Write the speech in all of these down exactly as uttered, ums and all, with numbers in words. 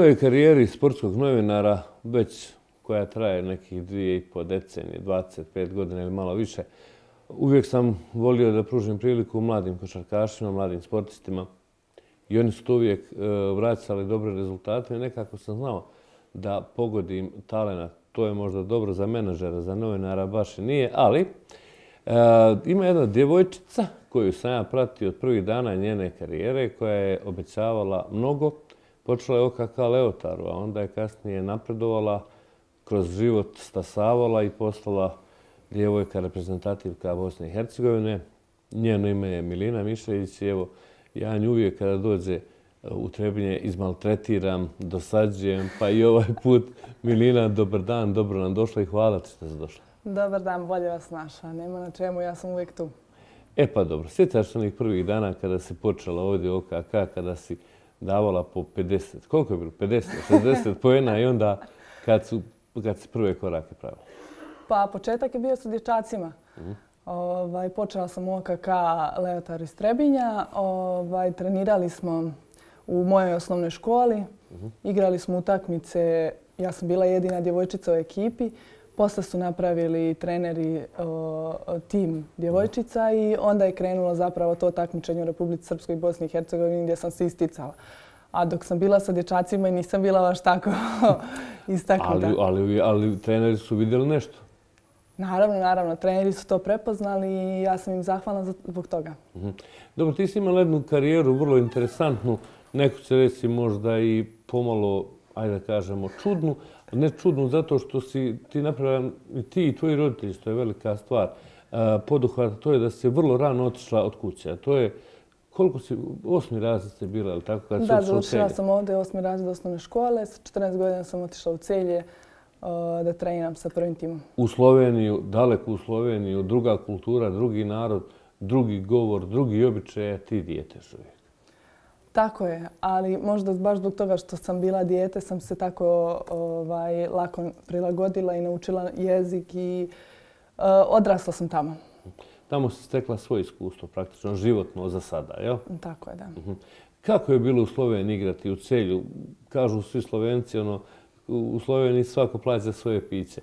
svojoj karijeri sportskog novinara, već koja traje nekih dvije i po decenije, dvadeset pet godina ili malo više, uvijek sam volio da pružim priliku mladim košarkašima, mladim sportistima i oni su to uvijek vraćali dobre rezultate i nekako sam znao da pogodim talenat. To je možda dobro za menadžera, za novinara baš i nije, ali ima jedna djevojčica koju sam ja pratio od prvih dana njene karijere, koja je obećavala mnogo. Počela je O K K Leotaru, a onda je kasnije napredovala, kroz život stasavala i postala djevojka reprezentativka Bosne i Hercegovine. Njeno ime je Milina Mišević i evo, ja nju uvijek kada dođe u Trebinje izmaltretiram, dosađujem, pa i ovaj put. Milina, dobar dan, dobro nam došla i hvala ti što si došla. Dobar dan, bolje vas našla. Nema na čemu, ja sam uvijek tu. E pa dobro, sjećaš se onih prvih dana kada si počela ovdje u O K K, kada si davala po pedeset, koliko je bilo? pedeset, šezdeset poena i onda kad su kad si prve korake pravila? Pa početak je bio sa dječacima. Mm. Ovaj, počela sam u O K K Leotar iz Trebinja. Ovaj, trenirali smo u mojoj osnovnoj školi. Mm-hmm. Igrali smo utakmice. Ja sam bila jedina djevojčica u ekipi. Posle su napravili treneri o, tim djevojčica i onda je krenulo zapravo to takmičenje u Republici Srpskoj i Bosni i Hercegovini gdje sam se isticala. A dok sam bila sa dječacima i nisam bila baš tako istaknuta. Ali, ali, ali treneri su vidjeli nešto? Naravno, naravno. Treneri su to prepoznali i ja sam im zahvalna zbog toga. Mm-hmm. Dobro, ti si imala jednu karijeru vrlo interesantnu. Neko će reći možda i pomalo, ajde da kažemo, čudnu. Ne čudnu zato što si ti napravila i ti i tvoji roditelji, što je velika stvar. Poduhvat, to je da si vrlo rano otišla od kuće. To je, koliko si, osmi razred ste bila, ali tako? Kad da, završila sam ovdje osmi razred osnovne škole. Sa četrnaest godina sam otišla u Celje da treniram sa prvim timom. U Sloveniju, daleko u Sloveniju, druga kultura, drugi narod, drugi govor, drugi običaj, a ti dijete još uvijek. Tako je, ali možda baš zbog toga što sam bila dijete sam se tako ovaj, lako prilagodila i naučila jezik i uh, odrasla sam tamo. Tamo si stekla svoje iskustvo, praktično životno za sada, jel? Tako je, da. Uh-huh. Kako je bilo u Sloveniji igrati u Celju? Kažu svi Slovenci, ono, u Sloveniji svako plaća svoje piće.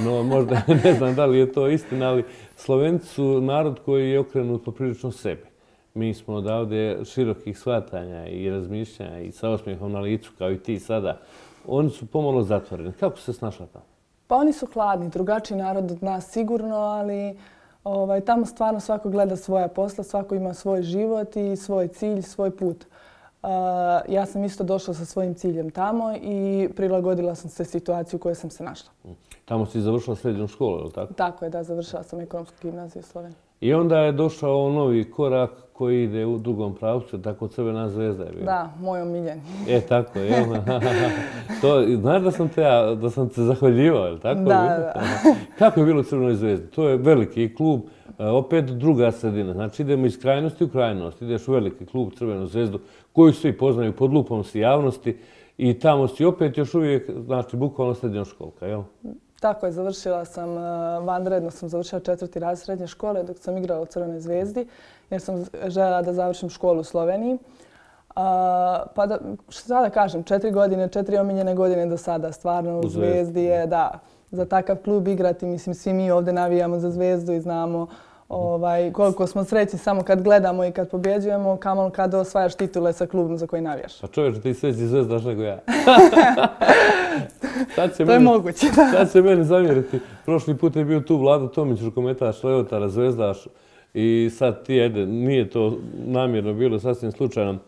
No, možda ne znam da li je to istina, ali Slovenci su narod koji je okrenut poprilično sebi. Mi smo odavde širokih shvatanja i razmišljanja i sa osmijehom na licu, kao i ti sada. Oni su pomalo zatvoreni. Kako se snašla tamo? Pa oni su hladni, drugačiji narod od nas sigurno, ali ovaj, tamo stvarno svako gleda svoja posla, svako ima svoj život i svoj cilj, svoj put. Uh, ja sam isto došla sa svojim ciljem tamo i prilagodila sam se situaciju u kojoj sam se našla. Tamo si završila srednju školu, je li tako? Tako je, da, završila sam ekonomsku gimnaziju u Sloveniji. I onda je došao novi korak koji ide u drugom pravcu, tako Crvena zvezda je bio. Da, moj omiljeni. E, tako je. To, znaš da sam te, ja, da sam te zahvaljivao, je li tako? Da, da. Kako je bilo u Crvenoj zvezdi? To je veliki klub, opet druga sredina. Znači idemo iz krajnosti u krajnost. Ideš u veliki klub, Crvenu zvezdu, koju svi poznaju, pod lupom si javnosti i tamo si opet još uvijek, znači, bukvalno srednjoškolka, jel? Tako je, završila sam, vanredno sam završila četvrti razred srednje škole dok sam igrala u Crvenoj zvezdi jer sam željela da završim školu u Sloveniji. A, pa da, što sada kažem, četiri godine, četiri omiljene godine do sada, stvarno u Zvezdi je, da, za takav klub igrati, mislim, svi mi ovdje navijamo za Zvezdu i znamo ovaj, koliko smo srećni samo kad gledamo i kad pobjeđujemo, kamoli kad osvajaš titule sa klubom za koji navijaš. Pa čovječe, ti srećni Zvezdaš nego ja. To meni, je moguće. Sad će meni zamjeriti. Prošli put je bio tu Vlado Tomić, rukometaš Leotara, Zvezdaš i sad ti, ajde, nije to namjerno bilo, sasvim slučajno.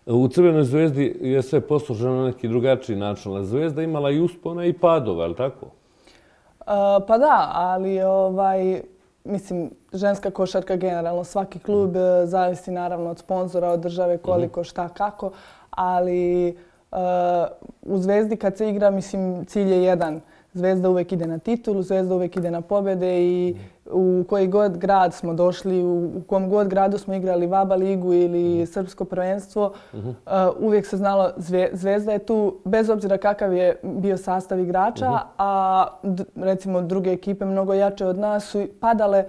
U Crvenoj zvezdi je sve posloženo na neki drugačiji način. Zvezda imala i uspona i padova, je li tako? Uh, pa da, ali ovaj, mislim, ženska košarka generalno, svaki klub mm. zavisi naravno od sponzora, od države, koliko, šta, kako, ali uh, u Zvezdi kad se igra, mislim, cilj je jedan. Zvezda uvijek ide na titulu, Zvezda uvijek ide na pobjede i u koji god grad smo došli, u kom god gradu smo igrali VABA ligu ili srpsko prvenstvo, uvijek se znalo Zvezda je tu, bez obzira kakav je bio sastav igrača, a recimo druge ekipe mnogo jače od nas su padale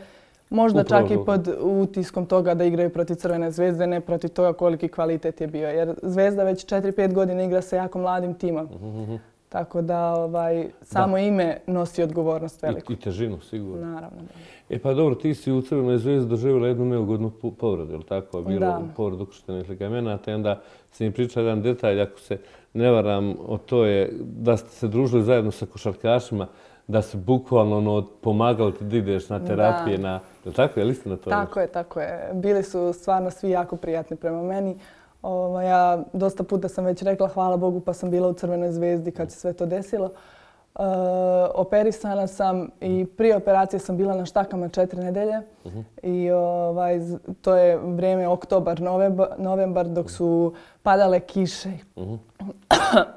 Možda Upravo čak i to. pod utiskom toga da igraju protiv Crvene zvezde, ne protiv toga koliki kvalitet je bio. Jer Zvezda već četiri pet godina igra sa jako mladim timom. Mhm. Tako da ovaj, samo ime nosi odgovornost veliku. I, I težinu, sigurno. Naravno. Da. E pa dobro, ti si u Crvenoj zvezdi doživjela jednu neugodnu po- povredu, je li tako? Bilo Da. povredu ukrštenih ligamenata i onda si mi pričao jedan detalj, ako se ne varam, o to je da ste se družili zajedno sa košarkašima, da su bukvalno ono, pomagali ti da ideš na terapije, Da. na... Je li tako? Je li istina to? Tako je, tako je. Bili su stvarno svi jako prijatni prema meni. Ovo, ja dosta puta sam već rekla hvala Bogu pa sam bila u Crvenoj zvezdi kad se sve to desilo. E, operisana sam i prije operacije sam bila na štakama četiri nedelje. Uh-huh. I ovaj, z- to je vrijeme oktobar, novembar, novembar dok su padale kiše. Uh-huh.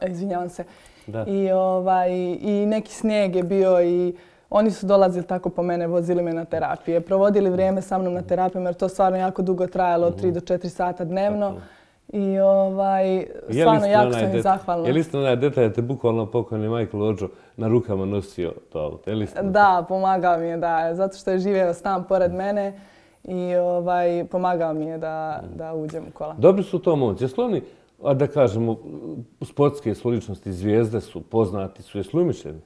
Izvinjavam se. Da. I, ovaj, I neki snijeg je bio i oni su dolazili tako po mene, vozili me na terapije. Provodili vrijeme sa mnom na terapijama jer to stvarno jako dugo trajalo, od tri do četiri sata dnevno. I ovaj, stvarno jako sam im zahvalna. Je li istina onaj detalj da te bukvalno pokojni Michael Odžo na rukama nosio to auto? Je li istina? Da, pomagao mi je, da, zato što je živio stan pored mene i ovaj, pomagao mi je da, da uđem u kola. Dobri su to momci. Jesu li oni, a da kažemo, sportske su ličnosti, zvijezde su, poznati su, jesu li umišljeni?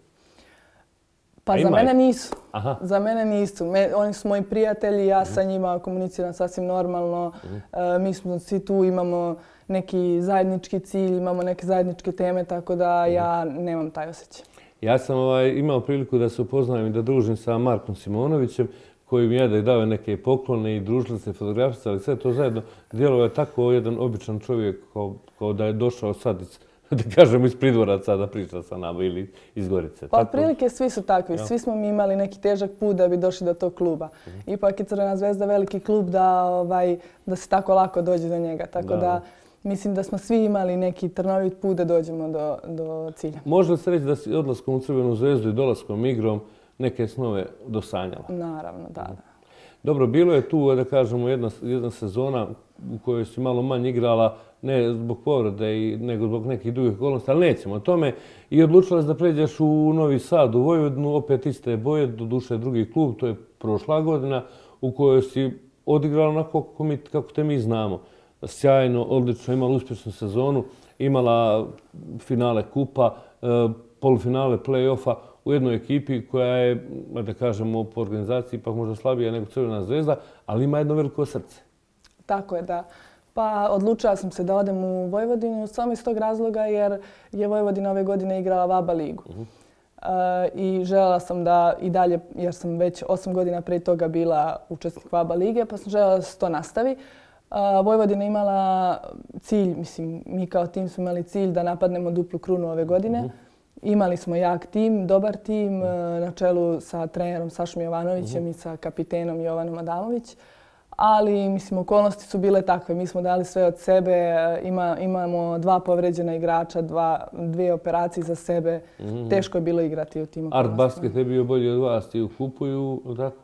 Pa A za ima mene ih? nisu. Aha. Za mene nisu. Me, oni su moji prijatelji, ja sa njima komuniciram sasvim normalno. E, mi smo svi tu, imamo neki zajednički cilj, imamo neke zajedničke teme, tako da ja nemam taj osjećaj. Ja sam ovaj, imao priliku da se upoznajem i da družim sa Markom Simonovićem, koji mi je da je dao neke poklone i družili se, fotografisali, sve to zajedno. Djelovao je tako jedan običan čovjek kao, kao da je došao sad iz, da kažemo, iz Pridvoraca da priča sa nama ili iz Gorice. Pa Tako- otprilike svi su takvi. Ja. Svi smo mi imali neki težak put da bi došli do tog kluba. Ipak je Crvena zvezda veliki klub da, ovaj, da se tako lako dođe do njega. Tako Da. da, mislim da smo svi imali neki trnovit put da dođemo do, do cilja. Može li se reći da si odlaskom u Crvenu zvezdu i dolaskom igrom neke snove dosanjala? Naravno, da, da. Dobro, bilo je tu, da kažemo, jedna, jedna sezona u kojoj si malo manje igrala, ne zbog povrede, i- nego zbog nekih drugih okolnosti, ali nećemo o tome. I odlučila si da pređeš u Novi Sad, u Vojvodinu, opet iste boje, doduše drugi klub, to je prošla godina, u kojoj si odigrala onako kako, mi, kako te mi znamo. Sjajno, odlično, imala uspješnu sezonu, imala finale kupa, e, polufinale play-offa u jednoj ekipi koja je, da kažemo, po organizaciji ipak možda slabija nego Crvena zvezda, ali ima jedno veliko srce. Tako je, da. Pa odlučila sam se da odem u Vojvodinu samo iz tog razloga jer je Vojvodina ove godine igrala v A B A ligu. Uh-huh. E, I željela sam da i dalje, jer sam već osam godina prije toga bila učesnik v A B A lige, pa sam željela da se to nastavi. A, Vojvodina imala cilj, mislim, mi kao tim smo imali cilj da napadnemo duplu krunu ove godine. Uh-huh. Imali smo jak tim, dobar tim, e, na čelu sa trenerom Sašom Jovanovićem i sa kapitenom Jovanom Adamović. Ali, mislim, okolnosti su bile takve. Mi smo dali sve od sebe, e, ima, imamo dva povređena igrača, dva, dvije operacije za sebe. Teško je bilo igrati u tim Art okolnostima. Basket je bio bolji od vas i u kupuju, tako?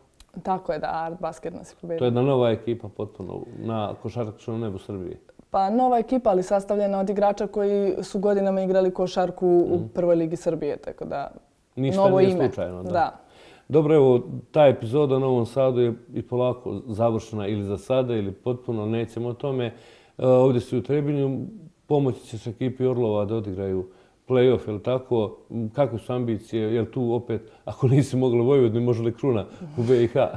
Tako je, da, Art Basket nas je To pobedio. je jedna nova ekipa potpuno na košarkaškom nebu Srbije. Pa nova ekipa, ali sastavljena od igrača koji su godinama igrali košarku u prvoj ligi Srbije, tako da Ništa novo nije ime. slučajno. Da. Da. Dobro, evo, ta epizoda u Novom Sadu je i polako završena ili za sada ili potpuno, nećemo o tome. E, ovdje si u Trebinju, pomoći ćeš ekipi Orlova da odigraju play-off, je li tako? Kakve su ambicije? Je li tu opet, ako nisi mogla u Vojvodini, može li kruna u B i H?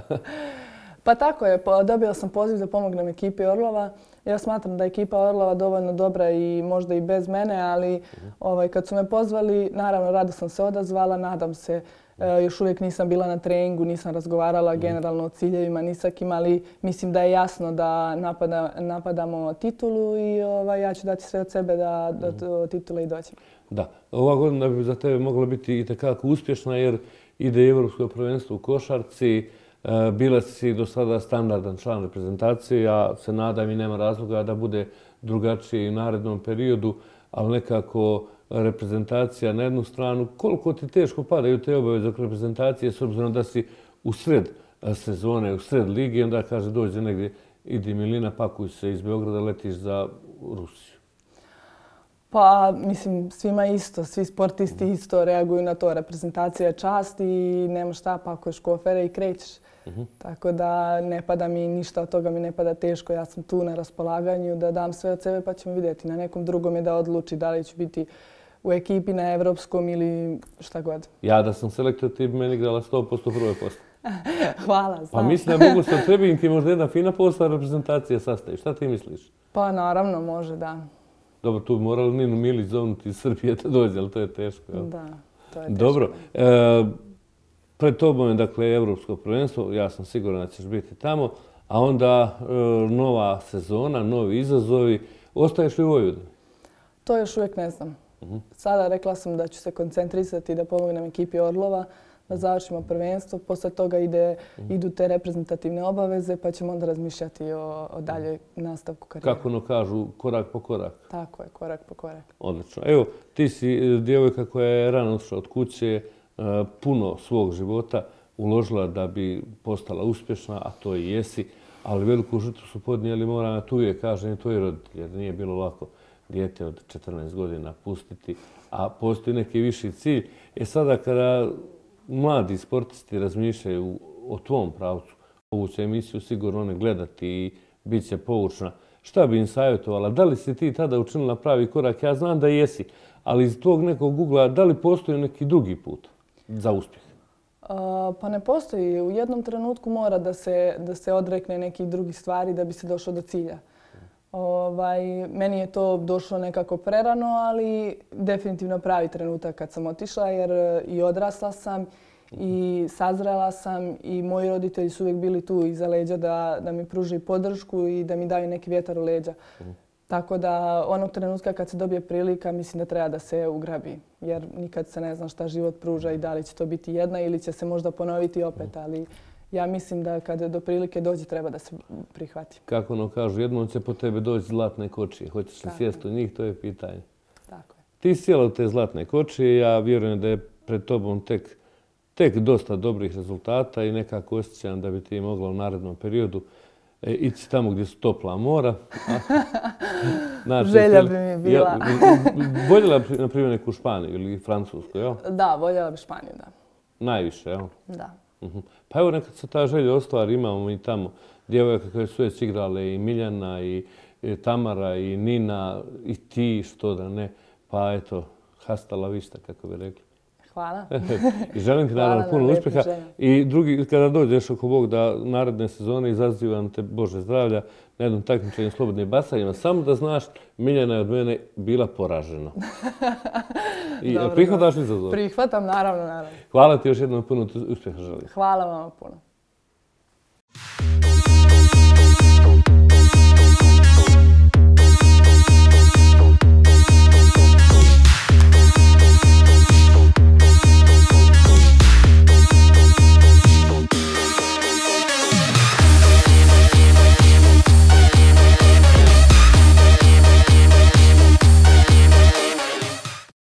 Pa tako je, po- dobila sam poziv da pomognem ekipi Orlova. Ja smatram da je ekipa Orlova dovoljno dobra i možda i bez mene, ali ovaj, kad su me pozvali, naravno rado sam se odazvala, nadam se. E, još uvijek nisam bila na treningu, nisam razgovarala generalno o ciljevima ni sa kim, ali mislim da je jasno da napada, napadamo titulu i ovaj, ja ću dati sve od sebe da do do titule i dođem. Da, ova godina bi za tebe mogla biti i takako uspješna jer ide i Evropsko prvenstvo u košarci. E, bila si do sada standardan član reprezentacije, ja se nadam i nema razloga da bude drugačije i u narednom periodu, ali nekako reprezentacija na jednu stranu, koliko ti teško padaju te obaveze oko reprezentacije s obzirom da si u sred sezone, u sred ligi, onda kaže dođe negdje, idi Milina, pakuj se iz Beograda, letiš za Rusiju. Pa, mislim, svima isto, svi sportisti isto reaguju na to. Reprezentacija je čast i nema šta, pakuješ kofere i krećeš. Uh-huh. Tako da ne pada mi ništa od toga, mi ne pada teško. Ja sam tu na raspolaganju da dam sve od sebe pa ćemo vidjeti. Na nekom drugom je da odluči da li ću biti u ekipi na evropskom ili šta god. Ja da sam selektor, ti bi meni igrala sto posto prve posto. Hvala, znam. Pa mislim da mogu sa trebim ti možda jedna fina postava reprezentacija sastavi. Šta ti misliš? Pa naravno, može, da. Dobro, tu bi morali Ninu Milić zovnuti iz Srbije da dođe, ali to je teško. Jel? Da, to je teško. Dobro. E, pred tobom je, dakle, Evropsko prvenstvo. Ja sam siguran da ćeš biti tamo. A onda e, nova sezona, novi izazovi. Ostaješ li u Vojvodini? To još uvijek ne znam. Uh-huh. Sada rekla sam da ću se koncentrisati da pomognem ekipi Orlova, da završimo prvenstvo. Posle toga ide, uh-huh. idu te reprezentativne obaveze, pa ćemo onda razmišljati o, o dalje nastavku karijere. Kako ono kažu, korak po korak. Tako je, korak po korak. Odlično. Evo, ti si djevojka koja je rano otišla od kuće, puno svog života uložila da bi postala uspješna, a to i jesi, ali veliku žrtvu su podnijeli, moram tu uvijek kažem, i tvoji roditelji, jer nije bilo lako dijete od četrnaest godina pustiti, a postoji neki viši cilj. E sada kada mladi sportisti razmišljaju o tvom pravcu, ovu će emisiju sigurno one gledati i bit će poučna. Šta bi im savjetovala? Da li si ti tada učinila pravi korak? Ja znam da jesi, ali iz tog nekog ugla, da li postoji neki drugi put za uspjeh? Uh, pa ne postoji. U jednom trenutku mora da se, da se odrekne nekih drugih stvari da bi se došlo do cilja. Ovaj, meni je to došlo nekako prerano, ali definitivno pravi trenutak kad sam otišla jer i odrasla sam i sazrela sam i moji roditelji su uvijek bili tu iza leđa da, da mi pruži podršku i da mi daju neki vjetar u leđa. Mm. Tako da onog trenutka kad se dobije prilika mislim da treba da se ugrabi jer nikad se ne zna šta život pruža i da li će to biti jedna ili će se možda ponoviti opet, ali ja mislim da kada do prilike dođe treba da se prihvati. Kako ono kažu, jednom će po tebe doći zlatne kočije. Hoćeš li sjesti u njih, to je pitanje. Tako je. Ti si sjela u te zlatne kočije, ja vjerujem da je pred tobom tek, tek dosta dobrih rezultata i nekako osjećam da bi ti mogla u narednom periodu e, ići tamo gdje su topla mora. Znači, želja bi mi bila. Ja, voljela bi, na primjer, neku Španiju ili Francusku, jel? Da, voljela bi Španiju, da. Najviše, jel? Da. Uh-huh. Pa evo nekad se ta želja ostvari, imamo i tamo djevojaka koje su već igrale i Miljana i, i Tamara i Nina i ti, što da ne. Pa eto, hasta la vista, kako bi rekli. Hvala. I želim ti naravno puno uspjeha. I drugi, kada dođeš oko Bog da naredne sezone izazivam te Bože zdravlja na jednom takmičenju slobodnim bacanjima. Samo da znaš, Miljana je od mene bila poražena. I dobro, prihvataš li izazov? Prihvatam, naravno, naravno. Hvala ti još jednom, puno uspjeha želim. Hvala vam puno.